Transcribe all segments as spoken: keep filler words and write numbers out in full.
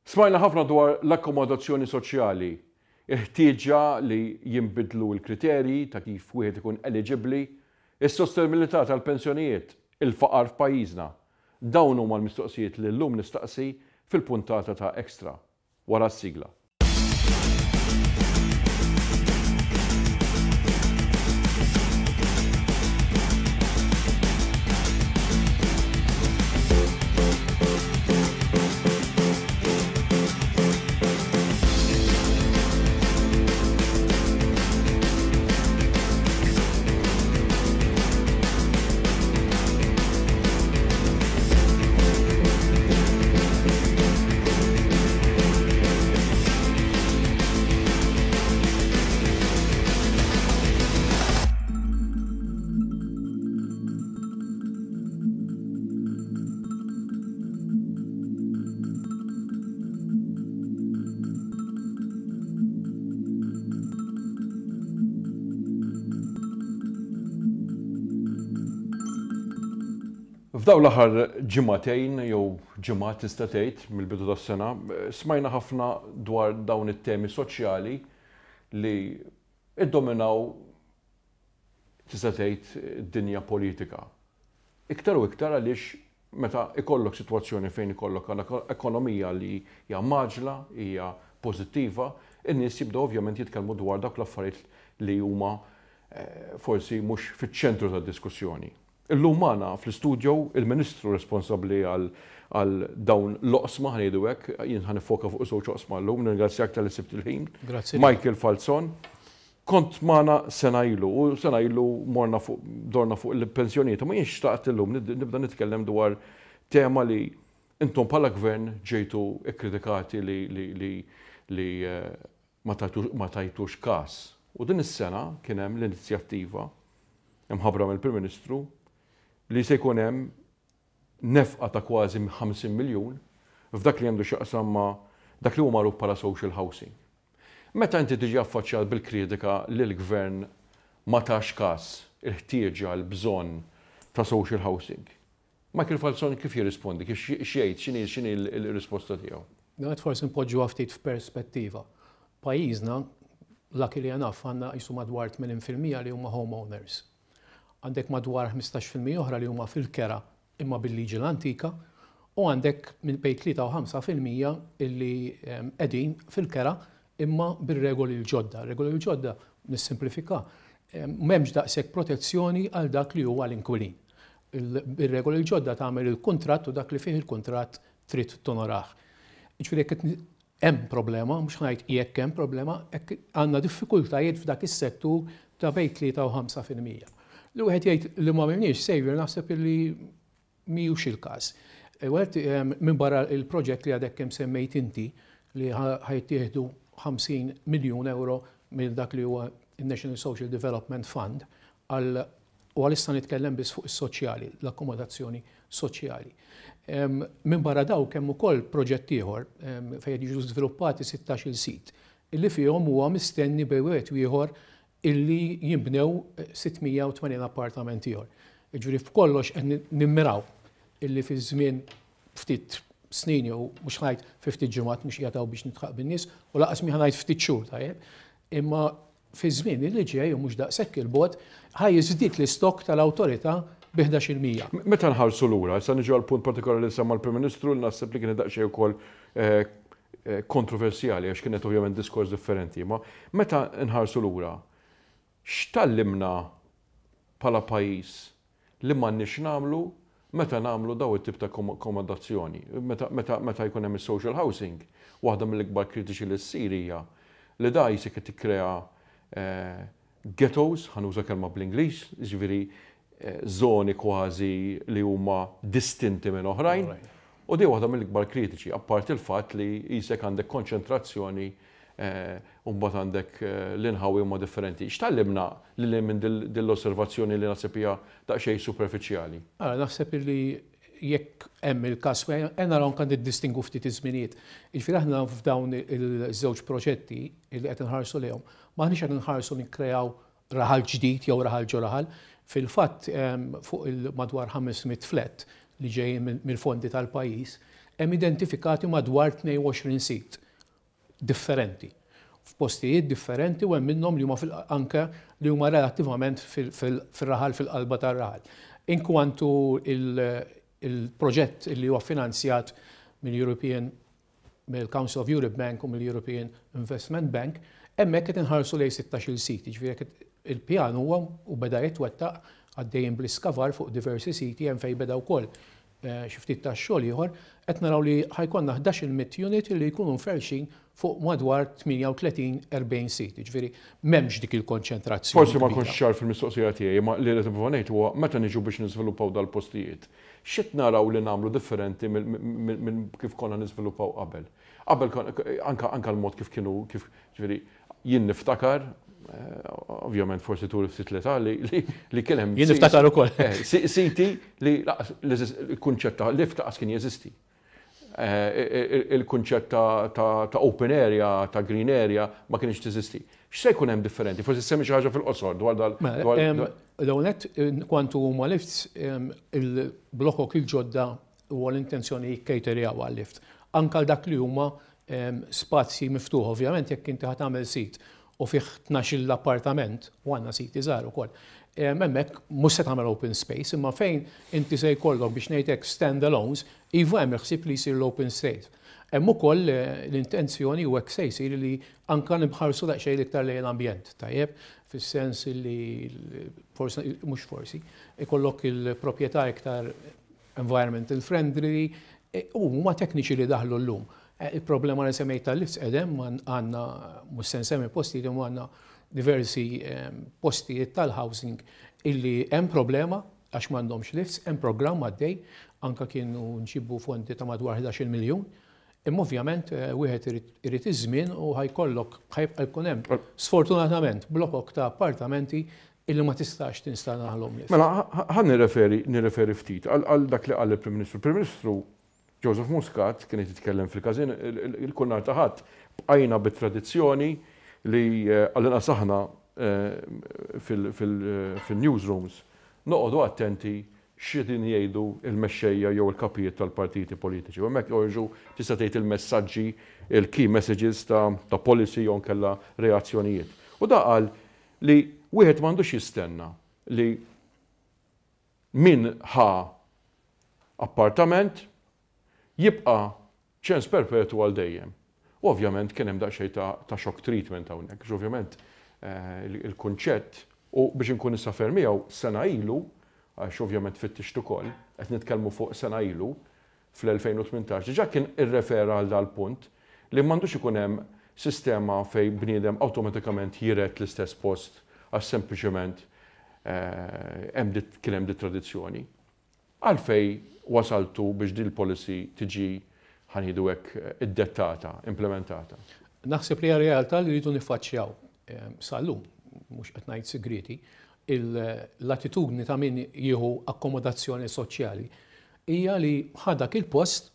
Smajna ħafna dwar l-akkomodazzjoni soċjali, il-ħtieġa li jinbidlu l-kriterji ta' kif wieħed ikun eliġibbli, is-sostenibilità tal-pensjonijiet, il-faqar f'pajjiżna. Dawn huma l-mistoqsijiet li llum nistaqsi fil-puntata ta' Extra wara s-sigla. F'dawn l-aħħar ġimagħtejn jew ġimgħat tista' tgħid mill-bidu tas-sena, smajna ħafna dwar dawn it-temi soċjali li iddominaw tista' tgħid id-dinja politika. Iktar u iktar għaliex meta ikollok sitwazzjoni fejn ikollok ekonomija li hija mgħaġġla, hija pożittiva, in-nies jibdew ovvjament jitkellmu dwar dawk l-affarijiet li huma forsi mhux fiċ-ċentru tad-diskussjoni. Illum magħna fl-istudio il-Ministru responsabbli għal dawn l-oqsma, ħa ngħidu hekk, jien ħa nifoka fuq żewġ oqsma llum, nirringrazzjak talli sibt il-ħin. Grazzi. Michael Falzon. Kont magħna sena ilu u sena ilu morna fuq dorna fuq il-pensjonijiet, ma jienx xtaqt illum nibda nitkellem dwar tema li intom bħala gvern ġejtu ikkritikati li li li li ma tajtux każ. U din is-sena kien hemm l-inizjattiva imħabbra mill-Prim Ministru li se jkun hemm nefqa ta' kważi ħamsin miljun f'dak li għandu x'jaqsam ma' dak li huwa magħruf bħala social housing. Meta inti tiġi affaċċjat bil-kritika li l-gvern ma tax każ il-ħtieġa l-bżonn ta' social housing, Michael Falzon kif jirrispondi, kif x'jgħid, x'inhi x'inhi l-risposta tiegħu? Għad forsi npoġġuha ftit f'perspettiva. Pajjiżna, luckily enough, għandna qisu madwar tmenin fil-mija li huma homeowners. Għandek madwar ħmistax fil-mija oħra li huma fil-kera imma bil-liġi l-antika, u għandek minn bejn tlieta u ħamsa fil-mija illi qegħdin fil-kera imma bir-regoli l-ġodda. Regoli l-ġodda, nissimplifika, m'hemmx daqshekk protezzjoni għal dak li huwa l-inkwilin. Bir-regoli l-ġodda tagħmel il-kuntratt u dak li fih il-kuntratt trid tonorah. Jiġifieri jekk hemm problema, mhux ngħid jekk hemm problema, hekk għandna diffikultajiet f'dak is-settur ta' bejn tlieta u ħamsa fil-mija. Li wieħed jgħid li ma għamilniex Xavier naħseb illi mhijiex il-każ. Wieħed minn barra il-proġett li għadek kemm semmejt inti li ħajtieħdu ħamsin miljun euro minn dak li huwa il-National Social Development Fund għal, u għalissa nitkellem biss fuq is-soċjali, l-akkomodazzjoni soċjali. Minn barra dawk hemm ukoll proġett ieħor fejn jiġu żviluppati sittax-il sit illi fihom huwa mistenni bejn wieħed u ieħor illi jinbnew sitt mija u tmenin appartament ieħor. Jiġifieri f'kollox qed nimmiraw illi fi żmien ftit snin jew mhux ngħid fi ftit ġimgħat mhux qiegħed hawn biex nitħaq bin-nies u laqas mi ngħid ftit xhur tajjeb, imma fi żmien illi ġej u mhux daqshekk il-bogħod ħaj jiżdied l-istokk tal-awtorità bi ħdax il-mija. Meta nħarsu lura, issa niġu għal punt partikolari li semma l-Prim Ministru li naħseb li kien daqsxejn ukoll, eh, eh, kontroversjali għax kienet ovvjament diskors differenti, ma meta nħarsu lura, x'tallimna bħala pajjiż li m'għandniex nagħmlu meta nagħmlu daw it-tip ta' akkomodazzjoni, meta, meta, meta jkun hemm is-social housing, waħda mill-ikbar kritiċi li ssir hija li da jisek qed tikkrea, eh, ghettos, ħanuża kelma bl-Ingliż, jiġifieri, eh, żoni kważi li huma distinti minn oħrajn. Oħrajn. U di waħda mill-ikbar kritiċi, apparti il-fatt li jisek għandek konċentrazzjoni, eh, u mbagħad għandek, eh, l-inħawi huma differenti. X'tallimna lil minn dil-, dil-osservazzjoni li naħseb hija daqsxejn superfiċjali? Ara, naħseb li jekk hemm il-każ, hemm naraw anke niddistingu ftit iż-żminijiet. Jiġifieri aħna f'dawn il-żewġ proġetti li qed inħarsu lejhom, m'aħniex qed inħarsu nikkreaw raħal ġdid jew raħal ġo raħal. Fil-fatt, em, fuq il-madwar ħames mitt flat li ġejjin mill-fondi tal-pajjiż, Hemm identifikati madwar tnejn u għoxrin sit differenti f'postijiet differenti u hemm minnhom li huma anke li huma relattivament fil-raħal, fil-qalba tar-raħal. Inkwantu il-proġett li huwa finanzjat mill-European mill-Council of Europe Bank u mill-European Investment Bank, hemmhekk qed inħarsu lejn sittax-il sit, jiġifieri il-pjan huwa u beda jitwettaq, għaddejjin bl-iskavar fuq diversi siti, hemm fejn beda wkoll eh, xi ftit tax-xogħol ieħor, qed naraw li ħa jkollna ħdax-il unit li jkunu mferxin fuq madwar tmienja u tletin erbgħin sit. Ġifieri m'hemmx dik il-konċentrazzjoni. Forsi ma kontx ċar fil-mistoqsija tiegħi, ma li qed ngħid huwa meta niġu biex niżviluppaw dal-postijiet, x'qed naraw li nagħmlu differenti minn kif konna niżviluppaw qabel? Qabel anka anka l-mod kif kienu, kif, ġifieri jien niftakar, eh, ovvjament forsi turi ftit l-età, li li kien hemm Jien niftakar ukoll. Eh, siti li l-kunċett ta' lift qas kien jeżisti. Eh, il-kunċett ta' open area, ta' green area ma kienx teżisti. X'se jkun hemm differenti? Forsi semmi xi ħaġa fil-qosor dwar dal. Mela, l-ewwel, kwantu huma lifts, il-blokok il-ġodda huwa l-intenzjoni jikkejterjaw għal-lift. Anka dak li huma spazji miftuħ, ovvjament jekk inti ħa tagħmel sit u fih tnax l-appartament, u għandna siti żgħar ukoll, hemmhekk mhux se tagħmel open space, imma fejn inti se jkollok, biex ngħidlek, stand-alones, iva, hemm ħsieb li jsir l-open space. Hemm ukoll eh, l-intenzjoni, u hekk se jsir, li anka nibħarsu daqsxejn iktar lejn l-ambjent, tajjeb, fis-sens li forsi, mhux forsi, ikollok il-proprjetà iktar environmental friendly, e, u huma tekniċi li daħlu llum. E, il-problema li semmejt tal-lifts edem għandna, mhux se nsemmi postijiet, għandna diversi postijiet tal-housing illi hemm problema għax m'għandhomx lifts, hemm programm għaddej, anka kienu nġibu fondi ta' madwar ħdax-il miljun. Imma ovvjament eh, wieħed irid iż-żmien u ħa jkollok, ħa jibqa' jkun hemm sfortunatament blokok ta' appartamenti illi ma tistax tinstallaħlhom lift. Mela, ħa nirreferi nirreferi ftit għal dak li qal il-Prim Ministru. Il-Prim Ministru Joseph Muscat kien jitkellem fil-każin il-kull nhar ta' Ħadd. Bqajna bit-tradizzjoni li eh, għall-inqas aħna eh, fil-newsrooms noqogħdu attenti x'qegħdin jgħidu il-mexxejja jew il-kapijiet tal-partiti politiċi. U hemmhekk joħorġu, tista' tgħid, il-messaġġi, il-key messages ta', ta policy jew kella reazzjonijiet. U da qal li wieħed m'għandux jistenna li min ħa appartament jibqa' ċens perpetu għal dejjem. U ovvjament kien hemm daqsxejn ta', ta shock treatment hawnhekk, għax ovvjament eh, il-kunċett, u biex inkun issa miegħu, sena ilu, għax ovvjament fittixt ukoll, qed nitkellmu fuq sena ilu, fl-elfejn u tmintax, diġà kien irrefera għal dal-punt li m'għandux ikun hemm sistema fej bniedem awtomatikament jiret l-istess post għax sempliċement eh, kien hemm di tradizzjoni. Għalfej wasaltu biex din il-policy tiġi, ħa ngħidu hekk, iddettata, implementata? Naħseb li realtà li rridu niffaċċjaw eh, sal-lum, mhux qed ngħid segreti, l-attitudni ta' min jieħu akkomodazzjoni soċjali hija li ħa dak il-post,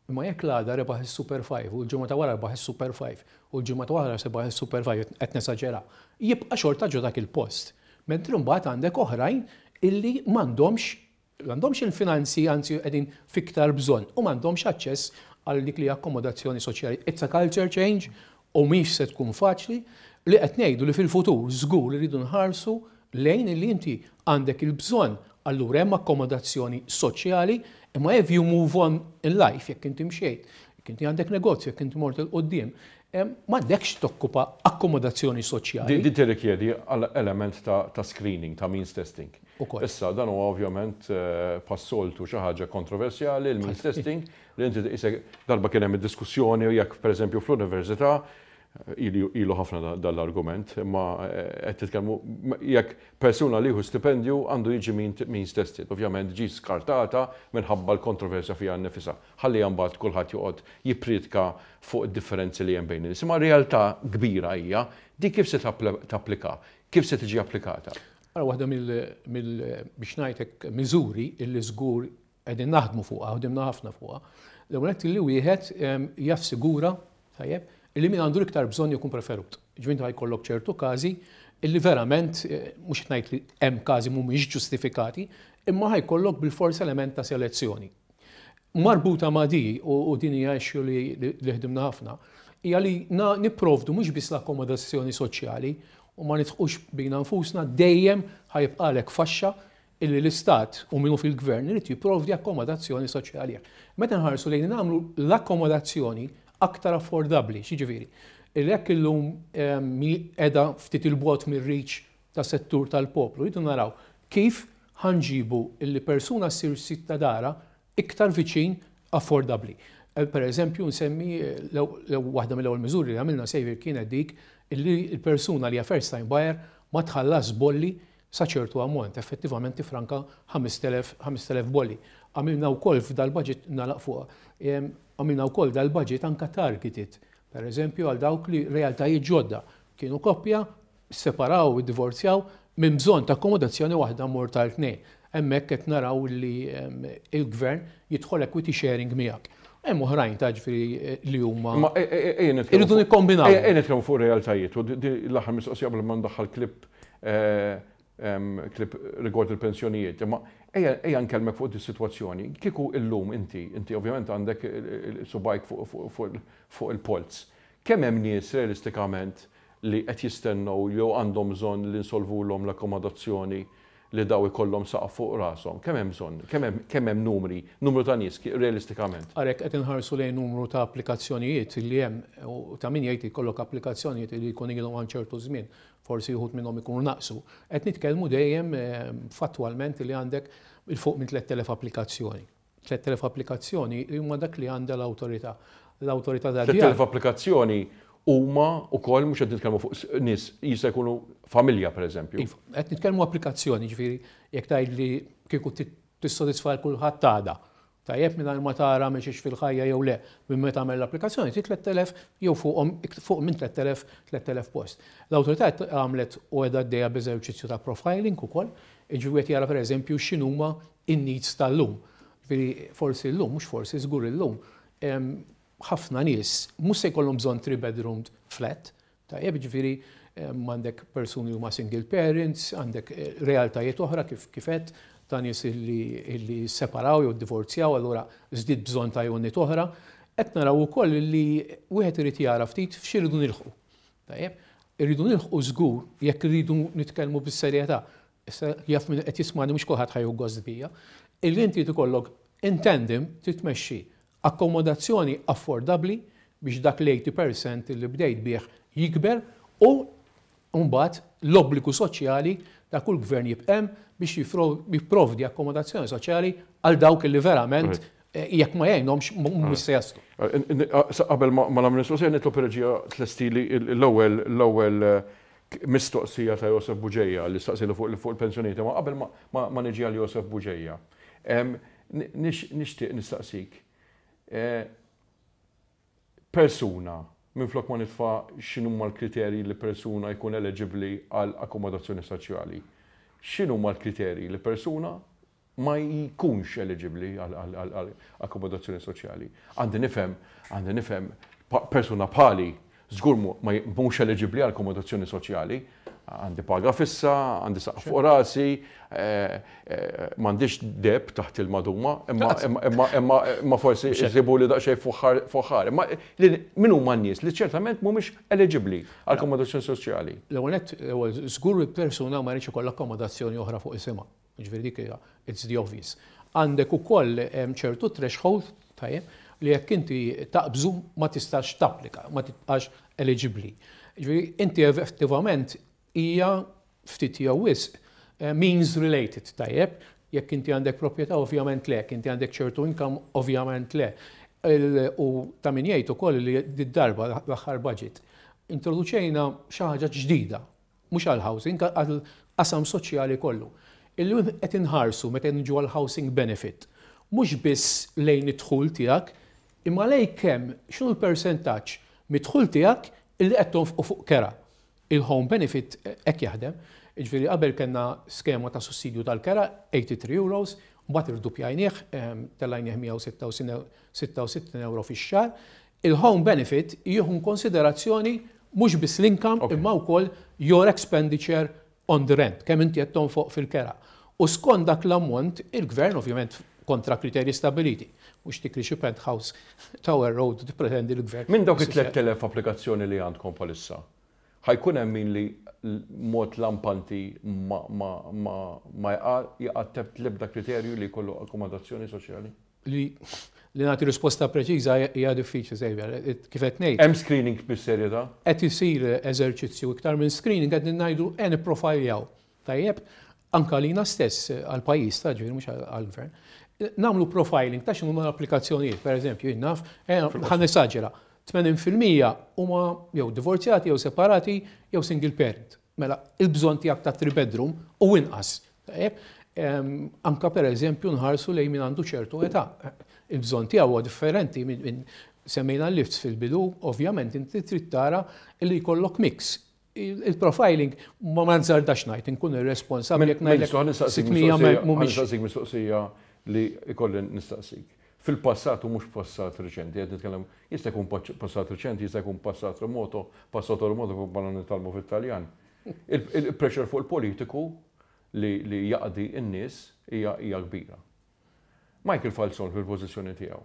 imma jekk l-għada rebaħ il-Super five u l-ġimgħa ta' wara rebaħ il-Super five u l-ġimgħa ta' wara rebaħ il-Super five, qed nesaġera, jibqa' xorta ġo dak il-post. Mentri mbagħad għandek oħrajn illi m'għandhomx m'għandhomx il-finanzi, anzi qegħdin fiktar bżonn u m'għandhomx aċċess għal dik li akkomodazzjoni soċjali. It's a culture change u mhix se tkun faċli. Li qed ngħidu li fil-futur żgur li rridu nħarsu lejn li inti għandek il-bżonn, allura hemm akkomodazzjoni soċjali, imma if you move on in life, jekk inti mxejt, jekk inti għandek negozju, jekk inti mort 'il quddiem, m'għandekx tokkupa akkomodazzjoni soċjali. Di tirrikjedi element ta', ta screening, ta' means testing. Issa, dan huwa ovvjament eh, bħas-soltu xi ħaġa kontroversjali, il-means testing, li inti darba kien hemm id-diskussjoni jekk, pereżempju, fl-università, ilu ħafna dal-argument, imma eh, qed titkellmu jekk persuna li jieħu stipendju għandu jiġi means tested. Ovvjament ġi skartata minħabba l-kontroversja fiha nnifisha. Ħalli mbagħad kulħadd joqgħod jippriedka fuq id-differenzi li hemm bejn nies. Imma realtà kbira hija di kif se tapplika, kif se tiġi applikata. Ara, waħda mill, biex ngħidlek, miżuri illi żgur qegħdin naħdmu fuqha, ħdimna ħafna fuqha. L-ewwel li wieħed jassigura, tajjeb, illi min għandu l-iktar bżonn jkun preferut. Ġifieri ħa jkollok ċertu każi illi verament, eh, mhux ngħid li hemm każi mhumiex ġustifikati, imma ħa jkollok bil-fors element ta' selezzjoni. Marbuta ma' di, u din hija issue li ħdimna ħafna, hija li nipprovdu mhux biss l-akkomodazzjoni soċjali u ma nidħqux bina nfusna, dejjem ħa jibqagħlek faxxa illi l-istat u minnu fil-gvern irid jipprovdi akkomodazzjoni soċjali. Meta nħarsu lejn nagħmlu l-akkomodazzjoni aktar affordabbli, x'jiġifieri? Illi jekk illum qiegħda ftit il-bogħod mir-reach ta' settur tal-poplu, jridu naraw kif ħa nġibu illi persuna ssir sid ta' darha iktar viċin, affordabbli. Eh, per eżempju, nsemmi eh, waħda mill-ewwel miżuri li għamilna, Saviour, kienet dik illi l-persuna li hija first time buyer ma tħallas bolli sa ċertu ammont, effettivament tifranka ħamest elef bolli. Għamilna wkoll f'dal-budget, nagħlaq fuq, għamilna wkoll dal-budget anka targeted, per eżempju, għal dawk li realtajiet ġodda. Kienu koppja, separaw, divorzjaw, minn bżonn ta' akkomodazzjoni waħda mor tal-tnejn. Hemmhekk qed naraw li il-gvern jidħol equity sharing miegħek. Hemm oħrajn ta' ġifieri eh, li huma. Ma e, e, e, irridu nikkombinaw. Ejja nitkellmu fuq realtajiet u l-aħħar mistoqsija qabel ma ndaħħal klip eh, klip rigward il-pensjonijiet. Imma ejja nkellmek fuq dis-sitwazzjoni. Kieku illum inti, inti ovvjament għandek subgħajk fuq il-polz. Kemm hemm nies realistikament li qed jistennew jew għandhom bżonn li nsolvulhom l-akkomodazzjoni, li daw ikollhom saqaf fuq rashom? Kemm hemm bżonn? Kemm hemm numri, numru ta' nies realistikament? Għalhekk qed inħarsu lejn numru ta' applikazzjonijiet li hemm, u ta' min jgħid jkollok applikazzjonijiet li jkun ilhom għal ċertu żmien, forsi wħud minnhom ikunu naqsu. Qed nitkellmu dejjem eh, fattwalment li għandek 'il fuq minn tliet elef applikazzjoni. tliet elef applikazzjoni huma dak li għandha l-awtorità. L-awtorità da tliet elef applikazzjoni huma wkoll mhux qed nitkellmu fuq nies, jista' jkunu familja, pereżempju. Iva, qed nitkellmu applikazzjoni, ġifieri jekk tgħid li kieku tissodisfa kulħadd għada. Tajjeb, minn ma tara mexiex fil-ħajja jew le, minn meta għamel l-applikazzjoni, ti tliet elef jew fuqhom, fuq minn tliet elef tliet elef post. L-awtorità għamlet u qiegħda għaddejja b'eżerċizzju ta' profiling ukoll, ġifieri jara, pereżempju, x'inhuma in-needs tal-lum. Ġifieri forsi llum, mhux forsi, żgur illum, ħafna nies mhux se jkollhom bżonn three bedroom flat, tajjeb, ġifieri għandek persuni huma single parents, għandek eh, realtajiet oħra kif kifet ta' nies illi separaw jew divorzjaw, allura żdied bżonn ta' unit oħra. Qed naraw ukoll li wieħed irid jara ftit f'xi nilħqu. Tajjeb, irridu nilħqu żgur jekk irridu nitkellmu bis-serjetà. Issa jaf min qed jismani, mhux kulħadd ħa jieħu gost bija. Illi inti tikollok in tandem titmexxi akkomodazzjoni affordabbli biex dak l-tmenin fil-mija li bdejt bih jikber u mbagħad l-obbligu soċjali ta' kull gvern jibqem biex jipprovdi akkomodazzjoni soċjali għal dawk li verament eh, jekk ma jgħinhomx mhux se jaslu. Qabel ma nagħmel mistoqsija, nitlob reġija tlestili l-ewwel l-ewwel eh, mistoqsija ta' Josef Buġeja li staqsilu fuq il-pensjonijiet, ma qabel ma niġi għal Josef Buġeja. Nixtieq nistaqsik. Eh, persuna, minn flok ma nitfa' x'inhuma l-kriterji li persuna jkun eligibli għal akkomodazzjoni soċjali, x'inhuma l-kriterji li persuna ma jkunx eligibli għal akkomodazzjoni soċjali? Għandi nifhem, għandi nifhem persuna bħali żgur ma mhux eligibbli għal akkomodazzjoni soċjali. Għandi paga fissa, għandi saqaf fuq rasi, eh, eh, m'għandix deheb taħt il-maduma, imma imma forsi jsibu li daqsxejn fuħħar. Imma min huma n-nies li ċertament mhumiex eligibbli għal akkomodazzjoni soċjali? L-ewwel nett, żgur persuna ma jridx ikollha akkomodazzjoni oħra fuq isimha. Ġifieri dik hija, it's the obvious. Għandek ukoll ċertu threshold, tajjeb, li jekk inti taqbżu ma tistax tapplika, ma tibqax eligibbli. Ġifieri inti effettivament hija ftit jew wisq eh, means related, tajjeb, jekk inti għandek proprjetà, ovvjament le, jekk inti għandek ċertu income, ovvjament le. U ta' min jgħid ukoll li d-darba l-aħħar budget introduċejna xi ħaġa ġdida, mhux għal housing, għal qasam soċjali kollu. Illum qed inħarsu meta nġu għal housing benefit, mhux biss lejn id-dħul tiegħek, imma lejn kemm, x'inhu l-persentaġġ mid-dħul tiegħek illi qed tonfqu fuq kera. Il-home benefit hekk jaħdem. Ġifieri qabel kellna skema ta' sussidju tal-kera, tmienja u tmenin euros, mbagħad irdupjajnieh, tellajnieh mija u sitta u sittin euro fix-xahar. Il-home benefit jieħu konsiderazzjoni mhux biss l-income imma wkoll your expenditure on the rent, kemm inti qed tonfoq fil-kera. U skont dak l-ammont, il-gvern, ovvjament kontra kriterji stabiliti, Mhux tikri xi penthouse Tower Road tippretendi l-gvern. Minn dawk it-tlett elef applikazzjoni li għandkom bħalissa, ħa jkun hemm min li mod lampanti ma ma ma ma jaqa' l-ebda kriterju li jkollu akkomodazzjoni soċjali? Li li nagħti risposta preċiża hija diffiċli, Xavier. Kif qed ngħid. Hemm screening bis-serjetà? Qed isir eżerċizzju iktar minn screening, qed ngħidu qed nipprofiljaw. Tajjeb, anka lina stess għall-pajjiż ta' ġifieri mhux għall-gvern. Nagħmlu profiling ta' x'inhuma l-applikazzjonijiet, pereżempju, jien naf, ħa nesaġera, tmenin fil-mija huma jew divorzjati jew separati jew single parent. Mela, il-bżonn tiegħek ta' three bedroom u inqas. Tajjeb, anka pereżempju nħarsu lejn min għandu ċertu età. Il-bżonn tiegħu huwa differenti minn semmejna l-lifts fil-bidu, ovvjament inti trid tara li jkollok mix. Il-profiling ma ma nżardax ngħid, inkun irresponsabbli jekk ngħidlek sitt mija mhumiex. Nistaqsik mistoqsija li ikolli nistaqsik. Fil-passat u mhux passat reċenti, qed nitkellem, jista' jkun passat reċenti, jista' jkun passat remoto, passato remoto kif bħala nitgħallmu fit-Taljan. Il-pressure fuq il-politiku li jaqdi n-nies hija kbira. Michael Falzon fil-pożizzjoni tiegħu.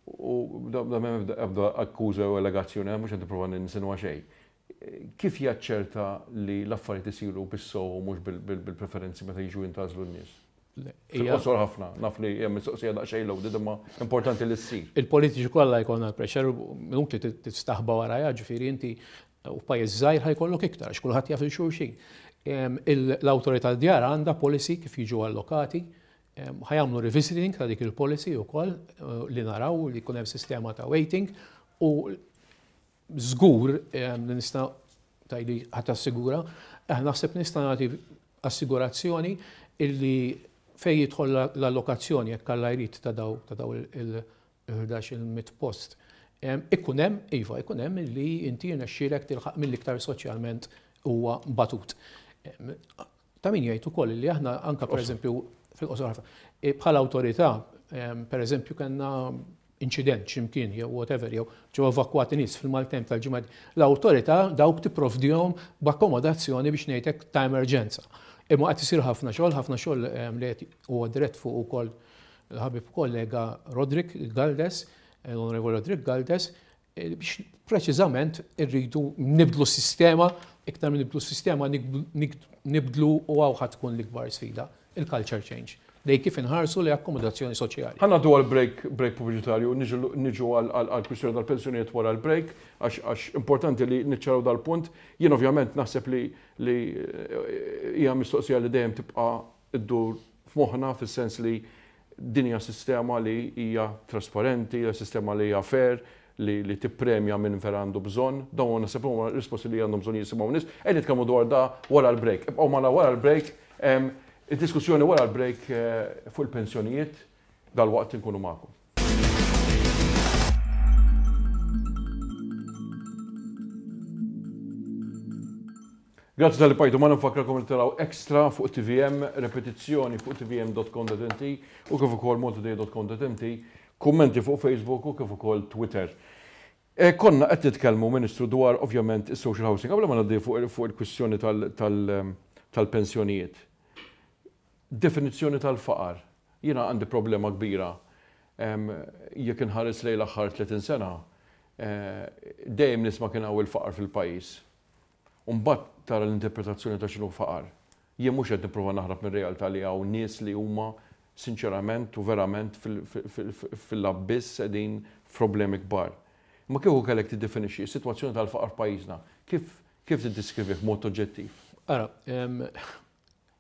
U da m'hemm ebda akkuża u allegazzjoni, mhux qed nipprova ninsinwa xejn. Kif jaċċerta li l-affarijiet isiru bis-sew u mhux bil-preferenzi meta jiġu jintgħażlu n-nies? Fil-qosor ħafna, naf li hemm mistoqsija daqsxejn loaded, imma importanti li ssir. Il-politiċi kollha jkollna l-pressure, minut li tistaħba warajha, ġifieri inti u pajjiż żgħir ħa jkollok iktar, għax kulħadd jaf il-xulxin. L-awtorità djar għandha policy kif jiġu allokati, ħa jagħmlu revisiting ta' dik il-policy wkoll li naraw li jkun hemm sistema ta' waiting u żgur li nista' tajli ħadd assigura, naħseb nista' nagħti assigurazzjoni illi fej jidħol l-allokazzjoni jekk Alla jrid ta' daw ta' daw il-ħdax il-mitt post. Ikun hemm, iva, ikun hemm li inti jirnexxielek tilħaq mill-iktar soċjalment huwa batut. Ta' min jgħid ukoll li aħna anka pereżempju fil-qosor ħafna, bħala awtorità, pereżempju kellna inċident x'imkien jew whatever, jew ġew evakwati nies fil-maltemp tal-ġimgħa, l-awtorità dawk tipprovdihom b'akkomodazzjoni biex ngħidlek ta' emerġenza. Imma qed isir ħafna xogħol, ħafna xogħol li qed huwa dirett fuq ukoll il-ħabib kollega Roderick Galdes, l-Onorevoli Roderick Galdes, biex preċiżament irridu nibdlu s-sistema, iktar minn nibdlu s-sistema nibdlu u hawn ħa tkun l-ikbar sfida, il-culture change. Lej kif inħarsu li akkomodazzjoni soċjali. Ħa ngħaddu għal break, break pubbliċitarju, niġu għal kwistjoni tal-pensjonijiet wara l-break, għax importanti li niċċaraw dal-punt. Jien ovvjament naħseb li li hija mistoqsija li dejjem tibqa' iddur f'moħħna, fis-sens li din hija sistema li hija trasparenti, hija sistema li hija fair, li, li tippremja minn vera għandu bżonn. Dawn naħseb huma risposti li għandhom bżonn jisimgħu nies. Qed nitkellmu dwar da wara l-break. Ibqgħu magħna wara l-break. Id-diskussjoni wara l-break fuq il-pensjonijiet dal-waqt inkunu magħkom. Grazzi talli bqajtu magħna, nfakkarkom li taraw Extra fuq T V M, repetizzjoni fuq T V M dot com dot M T u kif ukoll maltatoday dot com dot M T, kummenti fuq Facebook u kif ukoll Twitter. E, konna qed nitkellmu, Ministru, dwar ovvjament is-social housing, qabel ma ngħaddi fuq, fuq il-kwistjoni tal-, tal-, tal-pensjonijiet. Definizzjoni tal-faqar. Jiena għandi problema kbira. Em, jekk inħares lejn l-aħħar tletin sena, eh, dejjem nisma' kien hawn il-faqar fil-pajjiż. U mbagħad tara l-interpretazzjoni ta' x'inhu faqar. Jien mhux qed nipprova naħrab mir-realtà li hawn nies li huma sinċerament u verament fil-, fil-, fil-, fil-abbiss qegħdin f'problemi kbar. Ma kieku kellek tiddefinixxi s-sitwazzjoni tal-faqar f'pajjiżna, kif, kif tiddiskrivih b'mod oġġettiv? Ara, em,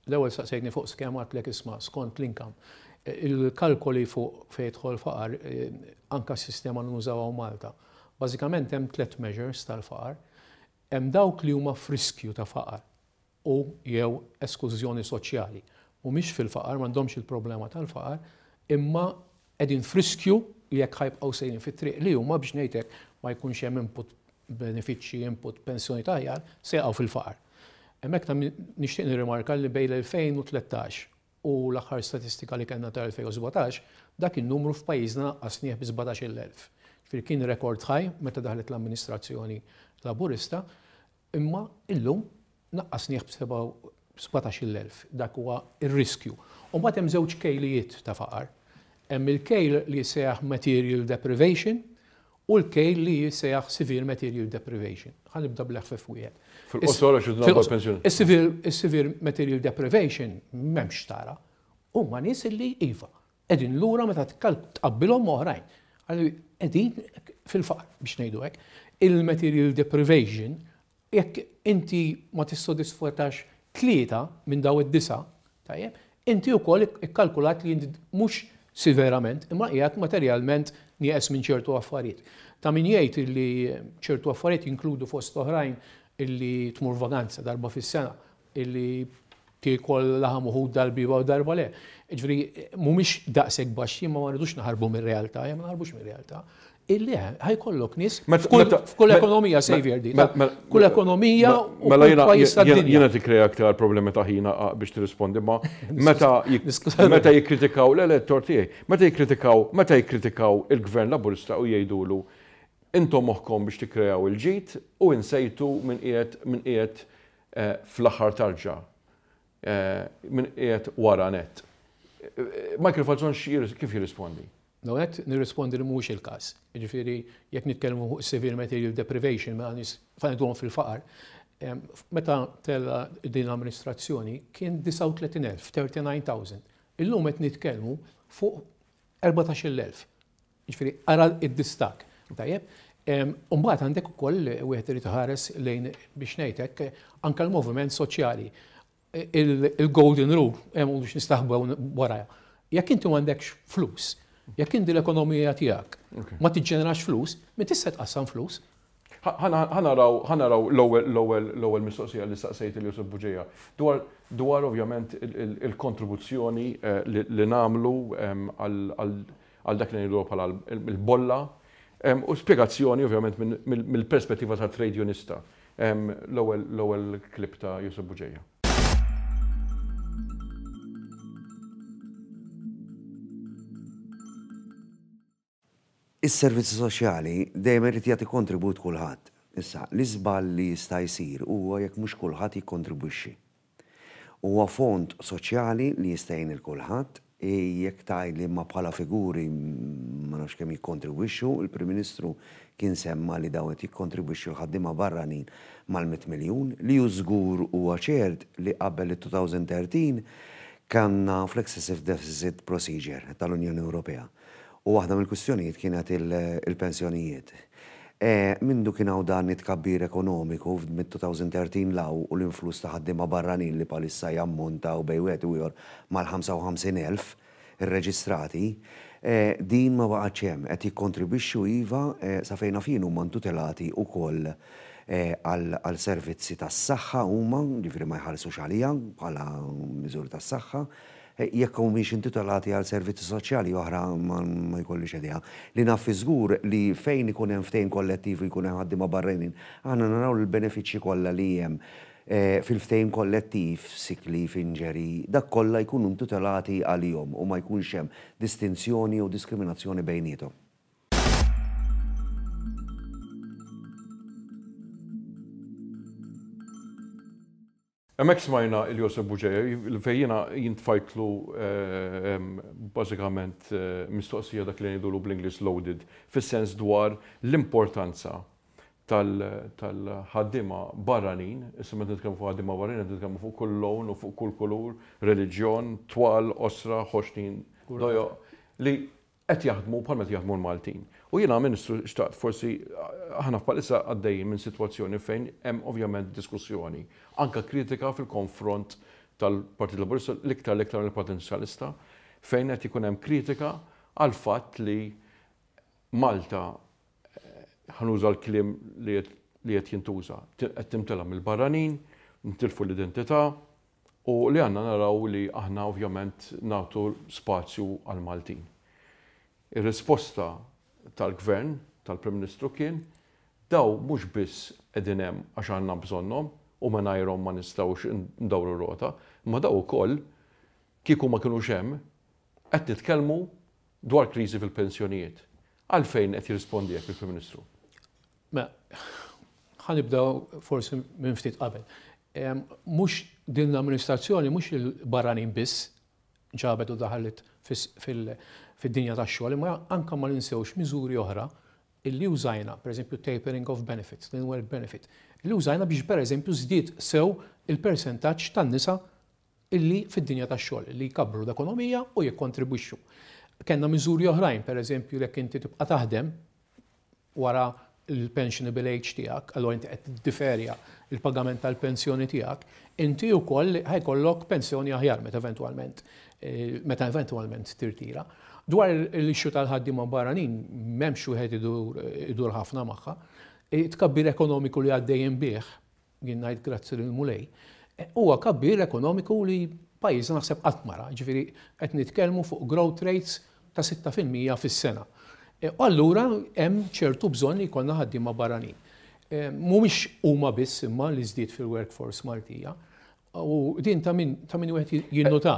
l-ewwel saqsejtni fuq skema għedtlek isma' skont l-income. Il-kalkoli fuq fejn jidħol faqar, eh, anka s-sistema li nużaw hawn Malta. Bażikament hemm tliet measures tal-faqar. Hemm dawk li huma f'riskju ta' faqar u jew esklużjoni soċjali. Mhumiex fil-faqar, m'għandhomx il-problema tal-faqar, imma qegħdin f'riskju jekk ħa jibqgħu sejrin fit-triq li huma biex ngħidlek ma jkunx hemm input benefiċċji, input pensjoni tajjar, se jaqgħu fil-faqar. Hemmhekk ta' nixtieq nirrimarka li bejn l-elfejn u tlettax u l-aħħar statistika li kellna tal-elfejn u sbatax, dak in-numru f'pajjiżna naqqasnieh bi sbatax-il elf. Ġifieri kien rekord ħaj meta daħlet l-amministrazzjoni Laburista, imma illum naqqasnieh b'sebatax-il elf. Dak huwa ir-riskju. U mbagħad hemm żewġ kejlijiet ta' faqar. Hemm il-kejl li jissejjaħ material deprivation u l-kejl li jissejjaħ severe material deprivation. Ħa nibda bl-eħfef wieħed. Fil-qosor għax pensjoni. Is-severe material deprivation m'hemmx tara. Huma nies li iva qegħdin lura meta tqabbilhom oħrajn. Qegħdin fil-faqar biex ngħidu hekk. Il-material deprivation, jekk inti ma tissodisfatax tlieta minn daw id-disa, tajjeb, inti wkoll ikkalkulat li inti mhux severament, imma qiegħed materjalment nieqes minn ċertu affarijiet. Ta' min jgħid li ċertu affarijiet jinkludu fost oħrajn illi tmur vaganza darba fis-sena, illi tiekol laħam uħud darba u darba le. Ġifieri mhumiex daqshekk baxxi, ma rridux naħarbu mir-realtà, ma naħarbux mir-realtà. Illi ħa jkollok nies f'kull ekonomija, Xavier, di. Kull ekonomija u kull pajjiż tad-dinja. Jiena tikkrea aktar problemi ta' ħina biex tirrispondi, ma meta meta jikkritikaw l-elettor tiegħi, meta jikkritikaw, meta jikkritikaw il-Gvern Laburista u jgħidulu intom moħħkom biex tikkreaw il-ġid u insejtu minn qiegħed minn qiegħed fl-aħħar tarġa, minn qiegħed wara net. Michael Falzon kif jirrispondi? L-ewwel nirrispondi li mhuwiex il-każ. Jiġifieri jekk nitkellmu fuq severe material deprivation mela nies ngħidulhom fil-faqar, meta tella din l-amministrazzjoni kien disgħa u tletin elf, thirty-nine thousand. Illum qed nitkellmu fuq erbatax-il elf. Jiġifieri ara id-distak. Tajjeb? U mbagħad għandek ukoll wieħed irid iħares lejn biex ngħidlek anke l-moviment soċjali. Il-golden rule, hemm biex nistaħbew warajha. Jekk inti m'għandekx flus, jekk inti l-ekonomija tiegħek ma tiġġenerax flus, min tista' tqassam flus? Ħa naraw l-ewwel mistoqsija li staqsejt lil Josef Bugeja dwar dwar ovvjament il-kontribuzzjoni li nagħmlu għal dak li ngħidu bħala l-bolla u spjegazzjoni ovvjament mill-perspettiva ta' trade unionista. L-ewwel klip ta' Josef Bugeja. Is-servizzi soċjali dejjem irid jagħti kontribut kulħadd. Issa, l-iżball li jista' jsir huwa jekk mhux kulħadd jikkontribwixxi. Huwa fond soċjali li jista' jgħin lil kulħadd, jekk tgħid li ma bħala figuri ma nafx kemm jikkontribwixxu, il-Prim Ministru kien semma li dawn qed jikkontribwixxu l-ħaddiema barranin mal-mitt miljun, li hu żgur huwa ċert li qabel it-two thousand thirteen kellna fl-excessive deficit procedure tal-Unjoni Ewropea. U waħda mill-kwistjonijiet kienet il-pensjonijiet. Mindu kien hawn dan it-tkabbir ekonomiku mid-two thousand thirteen law u l-influss ta' ħaddiema barranin li palissa jammontaw bejn wieħed u ieħor mal-ħamsa u ħamsin elf irreġistrati, din ma baqgħetx hemm, qed jikkontribwixxu iva sa fejn fin huma ntutelati wkoll għal servizzi tas-saħħa huma, ġifieri ma jħallsux għalija bħala miżuri tas-saħħa, jekk humiex intitolati għal servizzi soċjali oħra ma jkollix idea. Li naf żgur li fejn ikun hemm ftehim kollettiv u jkun hemm ħaddiema barranin, aħna naraw l-benefiċċji kollha li hemm fil-ftehim kollettiv, sick leave, injury, dak kollha jkunu intitolati għalihom u ma jkunx hemm distinzjoni u diskriminazzjoni bejniethom. Hemmhekk smajna il Josef Bugeja, fejn jiena jintfajtlu bażikament mistoqsija dak li ngħidulu bl-Ingliż loaded, fis-sens dwar l-importanza tal-ħaddiema barranin, issa meta nitkellmu fuq ħaddiema barranin, qed nitkellmu fuq kull lawn u fuq kull kulur, reliġjon, twal, osra, ħoxnin, dojo, li qed jaħdmu bħal meta jaħdmu l-Maltin. U jiena Ministru xtaqt forsi aħna bħalissa għaddejjin minn sitwazzjoni fejn hemm ovvjament diskussjoni, anka kritika fil-konfront tal-Partit Laburista, l-iktar l-iktar mill-Partit Soċjalista, fejn qed ikun hemm kritika għal fatt li Malta, ħanuża l-kliem li qed jintuża, qed timtela mill-barranin, nitilfu l-identità u li għandna naraw li aħna ovvjament nagħtu spazju għal-Maltin. Ir-risposta tal-Gvern, tal-Prim Ministru kien, daw mhux biss qegħdin hemm għax għandna bżonnhom u mingħajrhom ma nistgħux ndawru rota, ma daw ukoll kieku ma kinux hemm qed nitkellmu dwar kriżi fil-pensjonijiet. Għalfejn qed jirrispondi hekk il-Prim Ministru? Mela, ħa nibdew forsi minn ftit qabel. Mhux din l-amministrazzjoni, mhux il-barranin biss ġabet u daħlet fid-dinja tax-xogħol, imma anke ma ninsewx miżuri oħra illi użajna, pereżempju tapering of benefits, l-in-work benefit, illi użajna biex pereżempju żdied sew il-persentaġġ tan-nisa illi fid-dinja tax-xogħol, illi jkabbru l-ekonomija u jikkontribwixxu. Kellna miżuri oħrajn, pereżempju jekk inti tibqa' taħdem wara il-pensionable age tiegħek, allura inti qed tiddiferja il-pagament tal-pensjoni tiegħek, inti wkoll ħajkollok pensjoni aħjar meta eventwalment meta eventwalment tirtira. Dwar l-issue tal-ħaddiema barranin m'hemmx wieħed idur ħafna magħha. Tkabbir ekonomiku li għaddejjin bih, jien ngħid grazzi lil Mulej, huwa kabbir ekonomiku li pajjiżna naħseb qatt mara, ġifieri qed nitkellmu fuq growth rates ta' sitta fil-mija fis-sena. U allura hemm ċertu bżonn li jkollna ħaddiema barranin. Mhumiex huma biss imma li żdied fil-workforce Maltija. U din ta' min ta' min wieħed jinnota.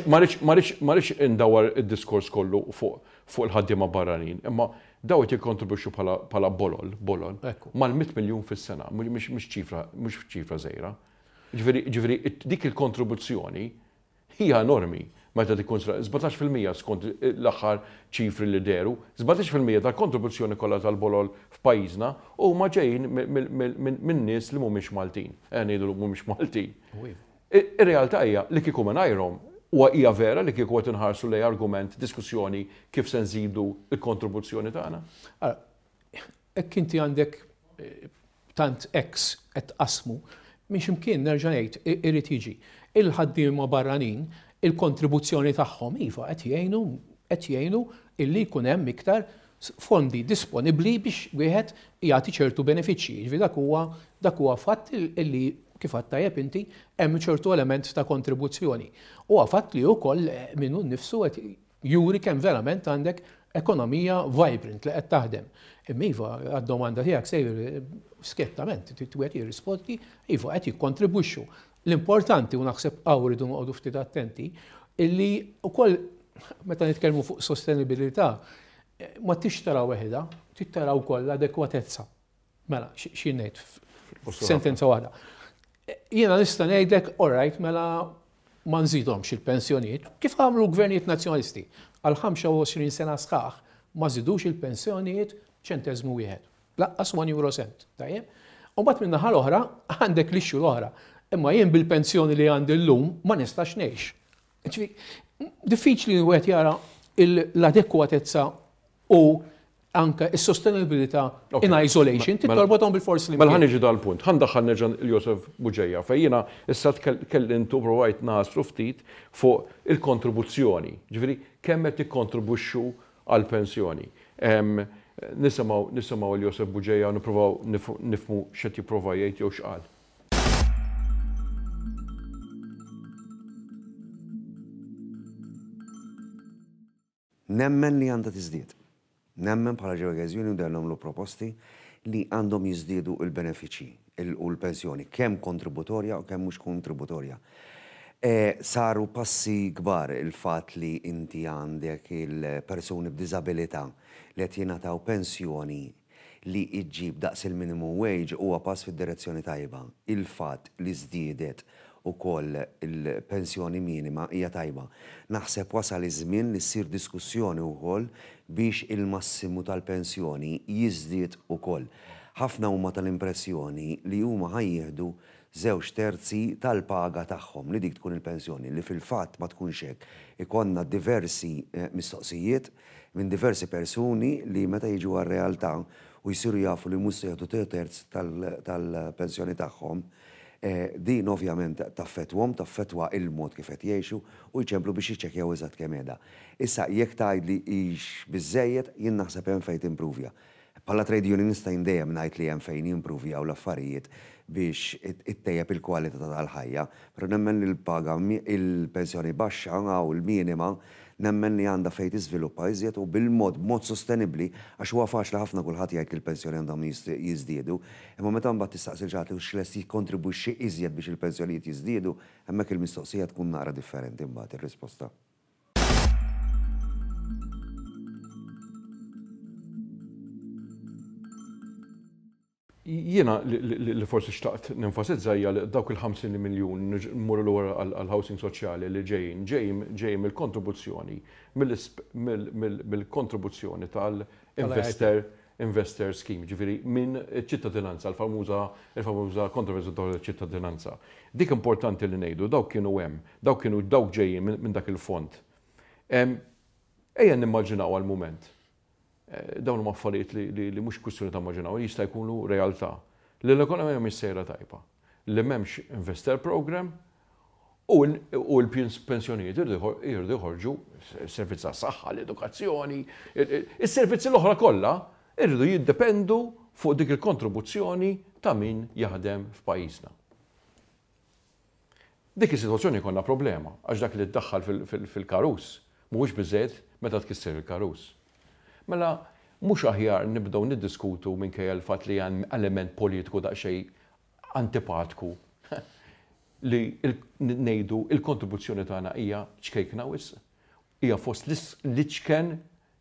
Ma rridx indawar id-diskors kollu fuq il-ħaddiema barranin, imma daw qed jikkontribwixxu bħala bolol, bolol mal-mitt miljun fis-sena, mhux ċifra, mhux ċifra żgħira. Ġifieri dik il-kontribuzzjoni hija enormi meta tikkonsidra sbatax fil-mija skont l-aħħar ċifri li deru, sbatax fil-mija tal-kontribuzzjoni kollha tal-bolol f'pajjiżna huma ġejjin minn nies li mhumiex Maltin. Eh, ngħidu mhumiex Maltin. Ir-realtà hija li kieku mingħajrhom huwa hija vera li kieku qed inħarsu lej argument, diskussjoni kif se nżidu l-kontribuzzjoni tagħna. Hekk inti għandek tant ex qed tqasmu, minn x'imkien nerġa' ngħid irid jiġi. Il-ħaddiema barranin il-kontribuzzjoni tagħhom iva qed jgħinu qed jgħinu illi jkun hemm iktar fondi disponibbli biex wieħed jagħti ċertu benefiċċji. Jiġifieri dak huwa dak huwa fatt illi kif għedt tajjeb inti hemm ċertu element ta' kontribuzzjoni. Huwa fatt li wkoll minnu nnifsu qed juri kemm verament għandek ekonomija vibrant li qed taħdem. Imma iva għad-domanda tiegħek sejjer skjettament wieħed jirrispondi iva qed jikkontribwixxu. L-importanti, u naħseb hawn rridu noqogħdu ftit attenti, illi wkoll meta nitkellmu fuq sostenibilità ma tix tara weħda, trid tara wkoll l-adekwatezza. Mela, xi ngħid sentenza waħda. Jiena nista' ngħidlek, all right, mela ma nżidhomx il-pensjonijiet, kif għamlu gvernijiet nazzjonalisti għal ħamsa u għoxrin sena sħaħ ma żidux il-pensjonijiet ċenteżmu wieħed, laqqas one euro cent, tajjeb? U mbagħad min-naħa l-oħra għandek l-issue l-oħra. Imma jien bil-pensjoni li għandi llum ma nistax ngħix. Diffiċli wieħed jara l-adekwatezza u anke s-sostenibilità in isolation, tittorbothom bil-forsi li. Mela ħa niġi dal-punt, ħa ndaħħal nerġa' il-Josef Bugeja, fejn jiena issa tkellimtu provajt naslu ftit fuq il-kontribuzzjoni. Ġifieri kemm qed tikkontribwixxu għall-pensjoni. Nisimgħu nisimgħu il-Josef Bugeja u nippruvaw nifhmu x'qed jipprova jgħid jew x'qal. Nemmen li għandha tiżdied. Nemmen bħala Ġew Union dejjem nagħmlu proposti li għandhom jiżdiedu il-benefiċċji u l-pensjoni, kemm kontributorja u kemm mhux kontributorja. Saru passi kbar il-fatt li inti għandek il-persuni b'diżabilità li qed jingħataw pensjoni li iġġib daqs il-minimum wage huwa pass fid-direzzjoni tajba. Il-fatt li żdiedet ukoll il-pensjoni minima hija tajba. Naħseb wasal iż-żmien li ssir diskussjoni wkoll biex il-massimu tal-pensjoni jiżdied ukoll. Ħafna huma tal-impressjoni li huma ħajjieħdu żewġ terzi tal-paga tagħhom li dik tkun il-pensjoni, li fil-fatt ma tkunx hekk. Ikonna diversi mistoqsijiet minn diversi persuni li meta jiġu għar-realtà u jsiru jafu li mhux se jieħdu terz tal-pensjoni tagħhom, din ovvjament taffettwhom, taffettwa il-mod kif qed jgħixu u jċemplu biex jiċċekkjaw eżatt kemm qiegħda. Issa jekk tgħidli hix biżżejjed, jien naħseb hemm fejn timpruvja. Bħala trade unionista jien dejjem ngħid li hemm fejn jimpruvjaw l-affarijiet biex ittejjeb il-kwalità tal-ħajja, però nemmen li l-paga il-pensjoni baxxa u l-minima nemmen li għandha fejn tiżviluppa iżjed u bil-mod b'mod sostenibbli, għax huwa faċli ħafna kulħadd jgħid li l-pensjoni għandhom jiżdiedu, imma meta mbagħad tistaqsi l ħadd li lest jikkontribwixxi iżjed biex il-pensjonijiet jiżdiedu, hemmhekk il-mistoqsija tkun naqra differenti mbagħad ir-risposta. Jiena li forsi xtaqt nenfasizza hija li dawk il-ħamsin miljun mmorru lura għall-housing soċjali li ġejjin ġejjin ġejjin mill-kontribuzzjoni mill-kontribuzzjoni tal-investor investor scheme, ġifieri minn ċittadinanza, l-famuża il-famuża kontroversja dwar ċittadinanza. Dik importanti li ngħidu, dawk kienu hemm, dawk kienu dawk ġejjin minn dak il-fond. Ejja nimmaġinaw għal-mument. Eh, dawn huma affarijiet li, li mhux kwistjoni ta' immaġinaw, jista' jkunu realtà. Li l-ekonomija mhix sejra tajba, li m'hemmx investor program u l-pensjonijiet irridu jħorġu servizz saħħa, l-edukazzjoni, is-servizzi l-oħra kollha irridu jiddependu fuq dik il-kontribuzzjoni ta' min jaħdem f'pajjiżna. Dik is-sitwazzjoni konna problema, għax dak li ddaħħal fil-karus mhuwiex biżejjed meta tkisser il-karus. Mela, mhux aħjar nibdew niddiskutu minkejja l-fatt li hemm element politiku daqsxejn antipatku li ngħidu il-kontribuzzjoni tagħna hija ċkejkna wisq, hija fost l-iċken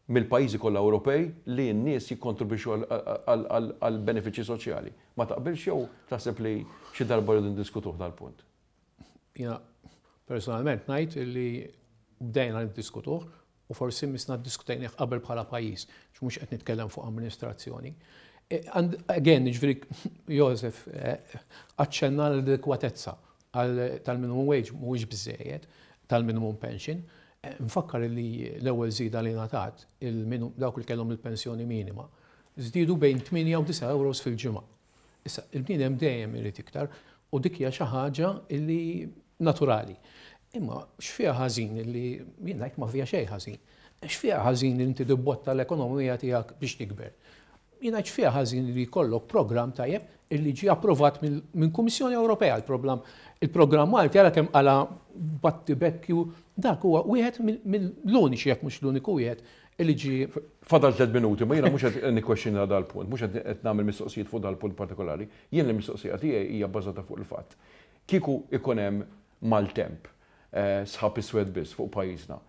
mill-pajjiżi kollha Ewropej li n-nies jikkontribwixxu għal benefiċċji soċjali. Ma taqbilx jew taħseb li xi darba rridu ndiskutuh dal-punt? Jiena personalment ngħid li bdejna niddiskutuh u forsi missna ddiskutejnih qabel bħala pajjiż, mhux qed nitkellem fuq amministrazzjoni. E, again, ġifieri Josef eh, aċċenna l-adekwatezza tal-minimum wage mhuwiex biżejjed, tal-minimum pension. Eh, nfakkar li l-ewwel żieda li ngħatat dawk li kellhom il-pensjoni minima żdiedu bejn tmienja u disa' euros fil-ġimgħa. Issa, il-bniedem dejjem irid iktar u dik hija xi ħaġa illi naturali. Imma x'fiha ħażin illi jien ngħid ma fiha xejn ħażin. X'fiha ħażin li inti tibbotta l-ekonomija tiegħek biex tikber? Jien ngħid x'fiha ħażin li jkollok programm tajjeb illi ġie approvat minn Kummissjoni Ewropea il-programm. Il-programm Malti għala kemm għala battibekju dak huwa wieħed mill-uniċi, jekk mhux l-uniku wieħed illi ġie. Fadal tliet minuti, ma jiena mhux qed nikkwestjona dal-punt, mhux qed nagħmel mistoqsijiet fuq dal-punt partikolari. Jien l-mistoqsija tiegħi hija bbażata fuq il-fatt. Kieku ikun hemm maltemp, eh, sħab iswed biss fuq pajjiżna,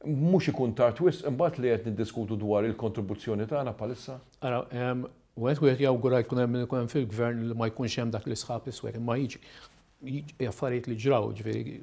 mhux ikun tard wisq imbagħad li qed niddiskutu dwar il-kontribuzzjoni tagħna bħalissa? Ara, wieħed wieħed jawgura jkun hemm ikun hemm fil-gvern li ma jkunx hemm dak l-isħab iswed, imma jiġi affarijiet li ġraw, ġifieri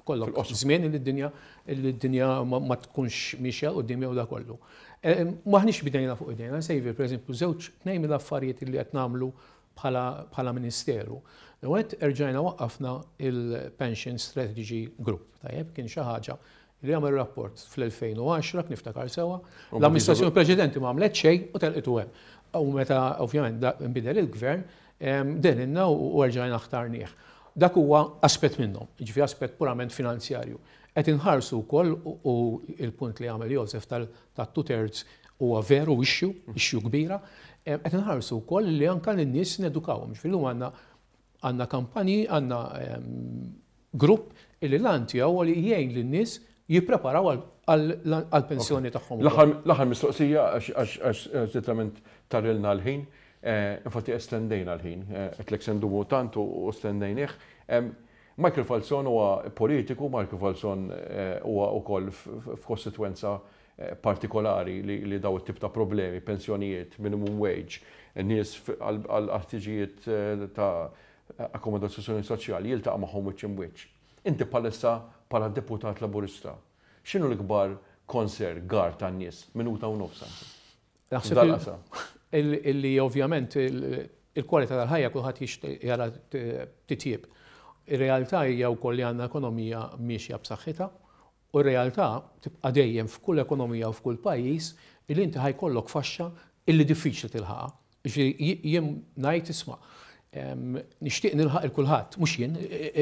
kollok żmien li d-dinja li d-dinja ma tkunx miexja quddiem jew da kollu. Maħniex bidejna fuq idejna, sejvi, pereżempju, żewġ tnejn mill-affarijiet li qed nagħmlu bħala ministeru. Għet erġajna waqqafna il-Pension Strategy Group, tajjeb, kien xi ħaġa li għamel rapport fl-elfejn u għaxra, niftakar sewa, l-amministrazzjoni preċedenti ma għamlet xejn u telqitu hemm. U meta ovvjament nbidel il-gvern, deninna u erġajna ħtarnieh. Dak huwa aspett minnhom, ġifi aspett purament finanzjarju. Qed inħarsu wkoll u il-punt li għamel Josef tal-two thirds huwa veru issue, issue kbira, qed inħarsu wkoll li anka lin-nies nedukawhom. Ġifieri għandna għandna kampanji, għandna grupp illi l-għan tiegħu li jgħin lin-nies jippreparaw għal-pensjoni tagħhom. L-aħħar mistoqsija, għax literalment tarilna l-ħin, eh, infatti estendejna l-ħin, eh, qed sendumu tant u estendejnih. Michael Falzon huwa politiku, Michael Falzon eh, huwa wkoll f'kostitwenza partikolari li daw it-tip ta' problemi, pensjonijiet, minimum wage, nies għal ħtiġijiet ta' akkomodazzjoni soċjali jiltaqa' magħhom wiċċ imwiċċ. Inti bħalissa bħala deputat Laburista, x'inhu l-ikbar concern gar tan-nies? Minuta u nofs. Naħseb illi ovvjament il-kwalità tal-ħajja kulħadd jixtieq jara titjib. Ir-realtà hija wkoll li għandna ekonomija miexja b'saħħitha u r-realtà tibqa' dejjem f'kull ekonomija u f'kull pajjiż illi inti ħa jkollok faxxa illi diffiċli tilħaqha. Jien ngħid, isma', nixtieq nilħaq il-kulħadd, mhux jien,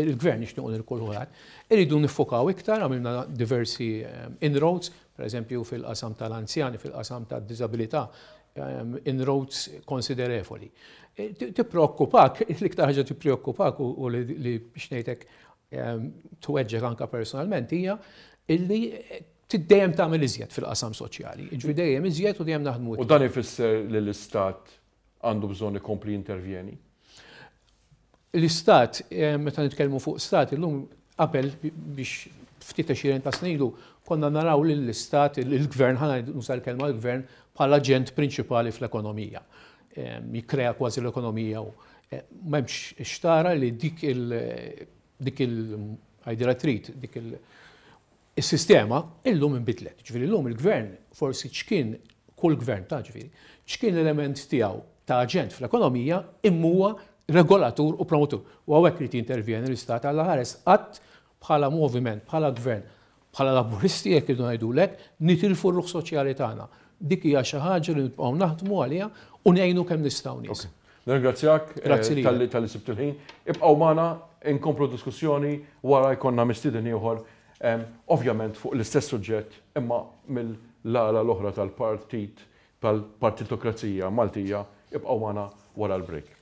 il-gvern nixtieq lil kulħadd. Irridu niffokaw iktar, għamilna diversi inroads, per eżempju fil-qasam tal-anzjani, fil-qasam tad-diżabilità, inroads konsiderevoli. E, tippreokkupak, l-iktar ħaġa tippreokkupak u li biex ngħidlek tweġġek anka personalment hija illi dejjem tagħmel iżjed fil-qasam soċjali. Ġifieri dejjem iżjed u dejjem naħdmu. U dan ifisser li l-istat għandu bżonn ikompli intervjeni? L-istat, eh, meta nitkellmu fuq stat, illum, qabel biex ftit għexieren ta' snin ilu, konna naraw li l-istat, il-gvern, ħa nuża l-kelma l-gvern, bħala aġent prinċipali fl-ekonomija. jikkrea kważi l-ekonomija u m'hemmx xtara li dik il dik il għajdira trid dik il is-sistema illum inbidlet. Ġifieri llum il-gvern forsi ċkien kull gvern ta' ġifieri, ċkien l-element tiegħu ta' aġent fl-ekonomija imma huwa regolatur u promotur. U hawnhekk irid jintervjeni l-istat għal ħares qatt bħala moviment, bħala gvern, bħala Laburisti, jekk irridu ngħidulek, nitilfu r-ruħ soċjali tagħna. Dik hija xi ħaġa li nibqgħu naħdmu għaliha u ngħinu kemm nistgħu nies. Nirringrazzjak talli talli sibt il-ħin. Ibqgħu magħna, inkomplu diskussjoni wara, jkollna mistieden ieħor, ovvjament fuq l-istess suġġett imma mill-ala l-oħra tal-partit tal-partitokrazija Maltija. Ibqgħu magħna wara l-break.